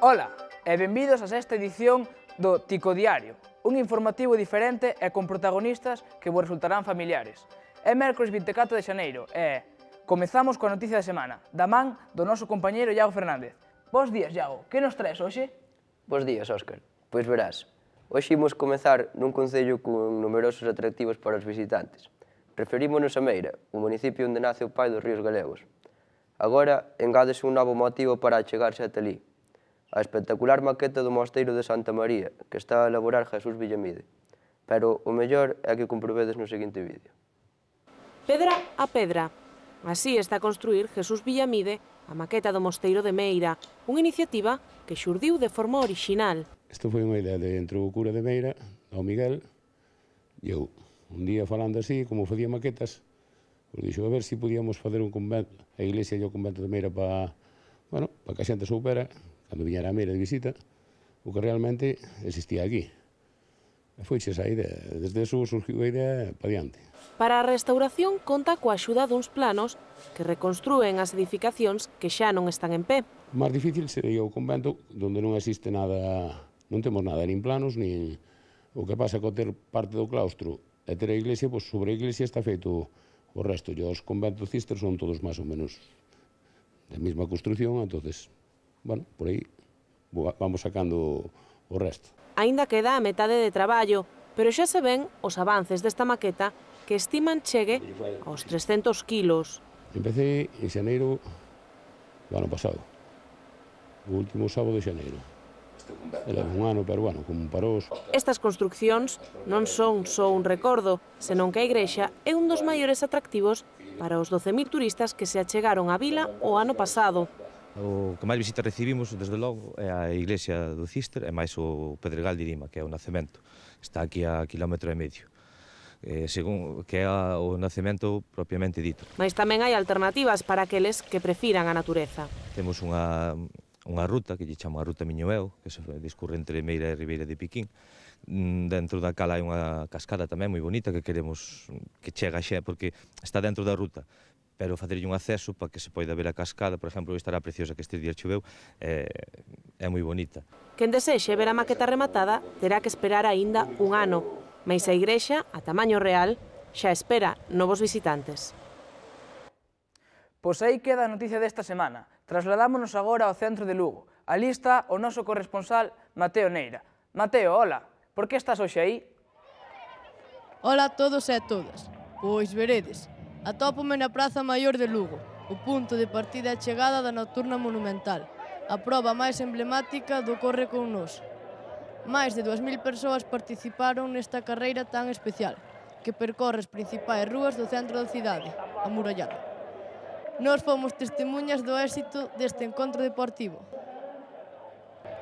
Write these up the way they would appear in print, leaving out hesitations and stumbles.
Ola, e benvidos a esta edición do Tico Diario, un informativo diferente e con protagonistas que vos resultarán familiares. É mércores 24 de xaneiro e comezamos coa noticia da semana, da man do noso compañeiro Iago Fernández. Bos días, Iago, que nos traes hoxe? Bos días, Óscar. Pois verás, hoxe imos comezar nun concello con numerosos atractivos para os visitantes. Referímonos a Meira, o municipio onde nace o pai dos ríos galegos. Agora, engádese un novo motivo para achegarse ata ali, a espectacular maqueta do Mosteiro de Santa María, que está a elaborar Jesús Villamide. Pero o mellor é que comprobedes no seguinte vídeo. Pedra a pedra. Así está a construir Jesús Villamide a maqueta do Mosteiro de Meira, unha iniciativa que xurdiu de forma orixinal. Isto foi unha idea de entre o cura de Meira, o Miguel, e eu. Un día falando así, como facía maquetas, pues dixo a ver se podíamos fazer un convento, a iglesia e o convento de Meira para que a xente soupera, cando viñera a Meira de visita, o que realmente existía aquí. E foixe esa idea. Desde eso surgiu a idea para diante. Para a restauración conta coa axuda duns planos que reconstrúen as edificacións que xa non están en pé. O máis difícil sería o convento, onde non existe nada, non temos nada, nin planos, nin... O que pasa co ter parte do claustro e ter a iglesia, pois sobre a iglesia está feito o resto. E os conventos cister son todos máis ou menos da mesma construcción, entonces, bueno, por aí vamos sacando o resto. Aínda queda a metade de traballo, pero xa se ven os avances desta maqueta que estiman chegue aos 300 kilos. Empecé en xaneiro do ano pasado, o último sábado de xaneiro. Era un ano, pero bueno, como parós. Estas construccións non son só un recordo, senón que a igrexa é un dos maiores atractivos para os 12.000 turistas que se achegaron á vila o ano pasado. O que máis visitas recibimos, desde logo, é a iglesia do Cister e máis o Pedregal de Irima, que é o nacemento. Está aquí a kilómetro e medio, según que é o nacemento propiamente dito. Mais tamén hai alternativas para aqueles que prefiran a natureza. Temos unha ruta que lle chama a Ruta Miñoeu, que se discurre entre Meira e Ribeira de Piquín. Dentro da cala hai unha cascada tamén moi bonita que queremos que chega xa, porque está dentro da ruta, pero facerlle un acceso para que se poida ver a cascada, por exemplo, estará preciosa que estes días choveu, é moi bonita. Quen desexe ver a maqueta rematada terá que esperar aínda un ano, mais a igrexa, a tamaño real, xa espera novos visitantes. Pois aí queda a noticia desta semana. Trasladámonos agora ao centro de Lugo. Ali está o noso corresponsal Mateo Neira. Mateo, hola, por que estás hoxe aí? Ola a todos e a todas. Pois veredes, atópome na Praza Maior de Lugo, o punto de partida e chegada da Nocturna Monumental, a proba máis emblemática do Corre con Nós. Máis de 2.000 persoas participaron nesta carreira tan especial, que percorre as principais rúas do centro da cidade, amurallada. Nós fomos testemunhas do éxito deste encontro deportivo.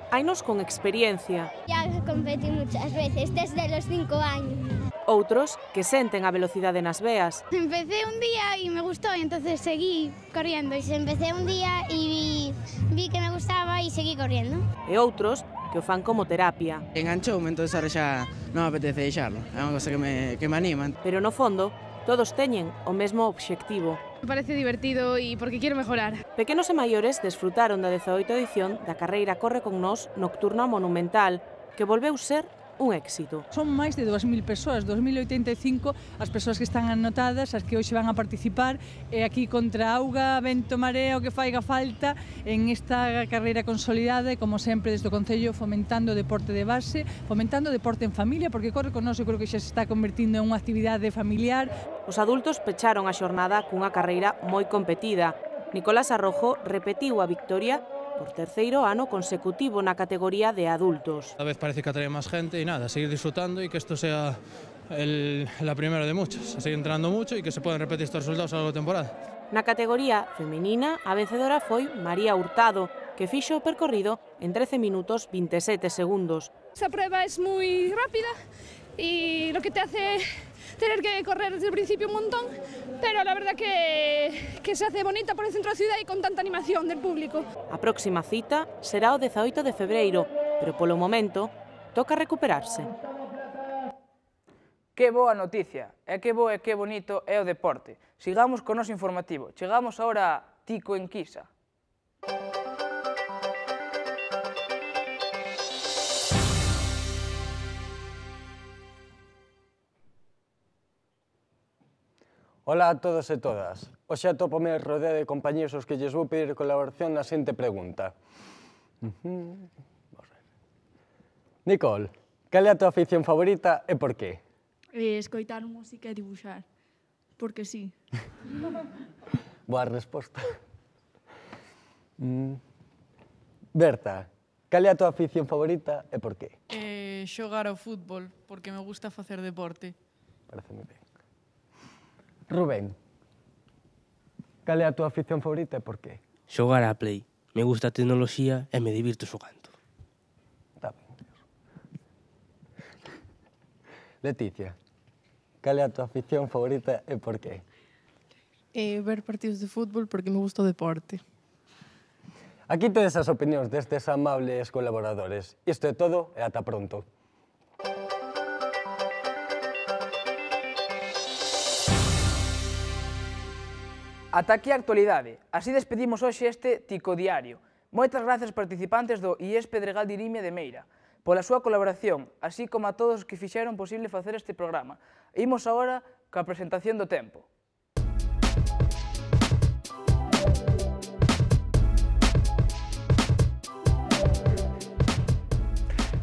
Hainos con experiencia. Ya competí muchas veces, desde los 5 años. Outros que senten a velocidade nas veas. Empecé un día y me gustó, y entonces seguí corriendo. Empecé un día y vi que me gustaba y seguí corriendo. E outros que o fan como terapia. Enganchoume, entón ahora xa non me apetece deixarlo. É unha cosa que me anima. Pero no fondo, todos teñen o mesmo obxectivo. Me parece divertido e porque quiero mejorar. Pequenos e maiores desfrutaron da 18ª edición da carreira Corre con Nós Nocturna Monumental, que volveu ser un éxito. Son máis de 2.000 persoas, 2.085 as persoas que están anotadas, as que hoxe van a participar, e aquí contra auga, vento, marea, o que faiga falta en esta carreira consolidada e, como sempre, desde o Concello fomentando o deporte de base, fomentando o deporte en familia, porque Corre con Nós eu creo que xa se está convertindo en unha actividade familiar. Os adultos pecharon a xornada cunha carreira moi competida. Nicolás Arrojo repetiu a victoria por terceiro ano consecutivo na categoría de adultos. Cada vez parece que atrae máis gente e nada, seguir disfrutando e que isto sea la primera de muchas, a seguir entrenando mucho e que se poden repetir estos resultados a lo largo da temporada. Na categoría femenina, a vencedora foi María Hurtado, que fixo o percorrido en 13 minutos 27 segundos. Esta prueba es muy rápida y lo que te hace tener que correr desde el principio un montón, pero la verdad que se hace bonita por el centro da ciudad e con tanta animación del público. A próxima cita será o 18 de febreiro, pero polo momento toca recuperarse. Que boa noticia, e que bo e que bonito é o deporte. Sigamos co noso informativo. Chegamos agora a Tico en Quisa. Ola a todos e todas. Hoxe atópome rodeado de compañeros aos que lles vou pedir colaboración na seguinte pregunta. Nicole, cal é a tua afición favorita e por qué? Escoitar música e dibuixar. Porque sí. Boa resposta. Berta, cal é a tua afición favorita e por qué? Xogar ao fútbol, porque me gusta facer deporte. Parece moi ben. Rubén, cal é a tua afición favorita e por qué? Xogar á Play. Me gusta a tecnoloxía e me divirto xogando. Está ben. Leticia, cal é a tua afición favorita e por qué? Ver partidos de fútbol porque me gusta o deporte. Aquí tedes as opinións destes amables colaboradores. Isto é todo e ata pronto. Ata aquí a actualidade. Así despedimos hoxe este Tico Diario. Moitas grazas participantes do IES Pedregal de Irimia de Meira pola súa colaboración, así como a todos os que fixeron posible facer este programa. Imos agora coa presentación do tempo.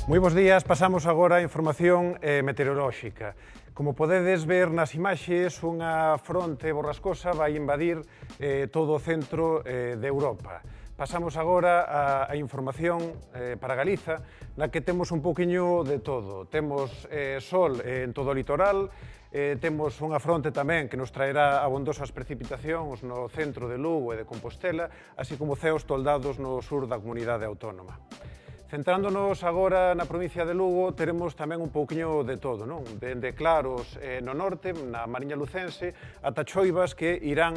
Moi bons días, pasamos agora a información meteorolóxica. Como podedes ver nas imaxes, unha fronte borrascosa vai invadir todo o centro de Europa. Pasamos agora a información para Galiza, na que temos un poquinho de todo. Temos sol en todo o litoral, temos unha fronte tamén que nos traerá abondosas precipitacións no centro de Lugo e de Compostela, así como ceos toldados no sur da comunidade autónoma. Centrándonos agora na provincia de Lugo, teremos tamén un pouquiño de todo, non? Dende claros no norte, na Mariña Lucense, ata choivas que irán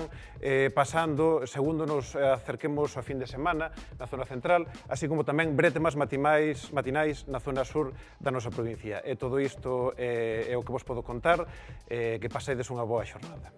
pasando segundo nos acerquemos ao fin de semana na zona central, así como tamén bretemas matinais na zona sur da nosa provincia. E todo isto é o que vos podo contar, que pasedes unha boa xornada.